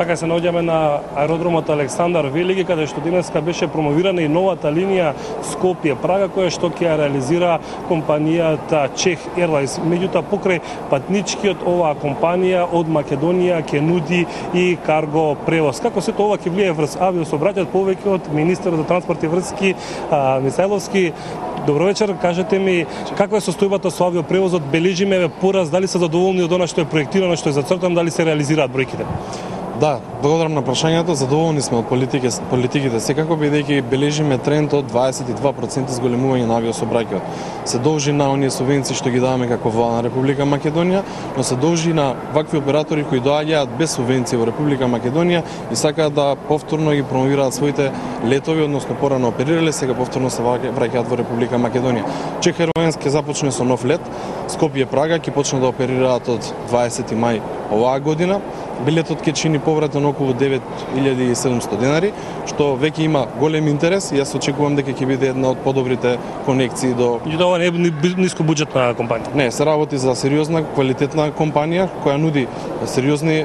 Така се наоѓаме на аеродромот Александар Велики, каде што денеска беше промовирана и новата линија Скопје-Прага, која што ќе ја реализира компанијата Czech Airlines. Меѓутоа, покрај патничкиот, оваа компанија од Македонија ќе нуди и карго превоз. Како сето ова ќе влијае врз авиосообраќајот, повеќе од министерот за транспорт и врски Мисајловски. Добро вечер, кажете ми каква е состојбата со авиопревозот? Бележиме пораз, дали се задоволни од она што е проектирано, што е зацртано, дали се реализираат бројките? Да, благодарам на прашањето. Задоволни сме од политиките секако, бидејќи бележиме тренд од 22% зголемување на авиосообраќајот. Се должи на оние субвенции што ги даваме како влада на Република Македонија, но се должи на вакви оператори кои доаѓаат без субвенции во Република Македонија и сакаат да повторно ги промовираат своите летови, односно порано оперирале, сега повторно се враќаат во Република Македонија. Czech Airlines ќе започне со нов лет, Скопје-Прага ќе почне да оперираат од 20 мај оваа година. Билетот ќе чини повратен околу 9700 денари, што веќе има голем интерес и јас очекувам дека ќе биде една од подобрите конекции до... И ова не е ниско буџетна компанија? Не, се работи за сериозна, квалитетна компанија која нуди сериозни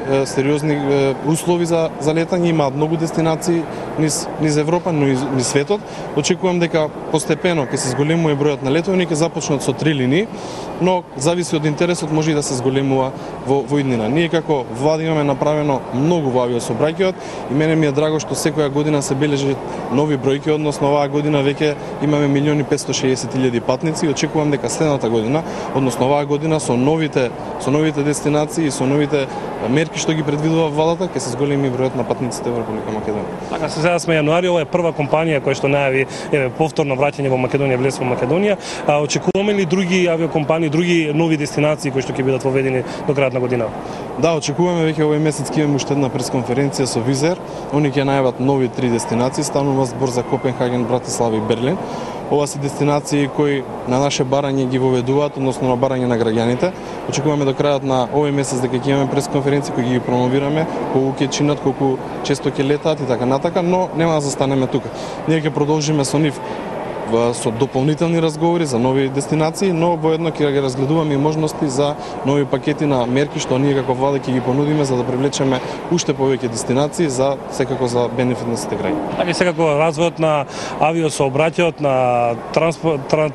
услови за летање, има многу дестинации низ Европа, но и низ светот. Очекувам дека постепено ќе се зголемува бројот на летови, ќе започнат со 3 линии, но зависи од интересот, може и да се зголемува во иднина. Ние како влада имаме направено многу во авиосообраќајот и мене ми е драго што секоја година се бележат нови бројки, односно оваа година веќе имаме 1.560.000 патници и очекувам дека следната година, односно оваа година со новите дестинации и со новите мерки што ги предвидува владата, ќе се зголеми бројот на патниците во Република Македонија. Така, сега сме јануари, ова е прва компанија која што најави повторно враќање во Македонија, влез во Македонија. Очекуваме ли други авиокомпании, други нови дестинации кои што ќе бидат воведени до крајот на година? Да, очекуваме веќе овој месец ќе имаме уште една пресконференција со Wizz Air. Они ќе најават нови 3 дестинации, станува збор за Копенхаген, Братислава и Берлин. Ова се дестинации кои на наше барање ги воведуваат, односно на барање на граѓаните. Очекуваме до крајот на овој месец дека ќе имаме пресконференции кои ги промовираме, колку ќе чинат, колку често ќе летаат и така натака, но нема да застанеме тука. Ние ќе продолжиме со нив со дополнителни разговори за нови дестинации, но воедно ќе ги разгледуваме и можности за нови пакети на мерки што ние како влада ќе ги понудиме за да привлечеме уште повеќе дестинации за секако за бенефит на сите граѓани. Така секако развојот на авиосообраќајот, на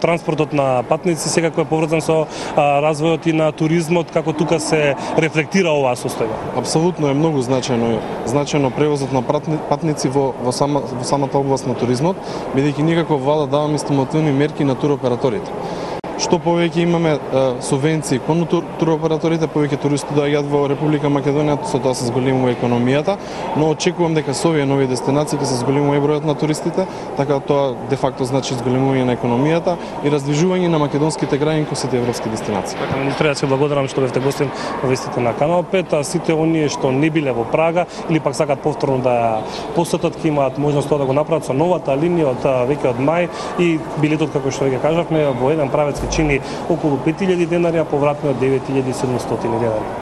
транспортот на патници секако е поврзан со развојот и на туризмот, како тука се рефлектира оваа состојба. Апсолутно е многу значајно превозот на патници во самата област на туризмот, бидејќи ние како влада даваме стимулативни мерки на туроператорите. Што повеќе имаме субвенции кон туроператорите, повеќе туристи доаѓаат во Република Македонија, со тоа се зголемува економијата, но очекувам дека со овие нови дестинации ќе се зголемува и бројот на туристите, така тоа де факто значи зголемување на економијата и раздвижување на македонските граѓани кон сите европски дестинации. Така, министре, јас ви благодарам што бевте гостин во вестите на Канал 5, а сите оние што не биле во Прага или пак сакат повторно да посетат, ќе имаат можност тоа да го направат со новата линија од веќе од мај и билетот, како што веќе кажавме, во еден правец чини околу 5000 денари, а повратно 9700 денари.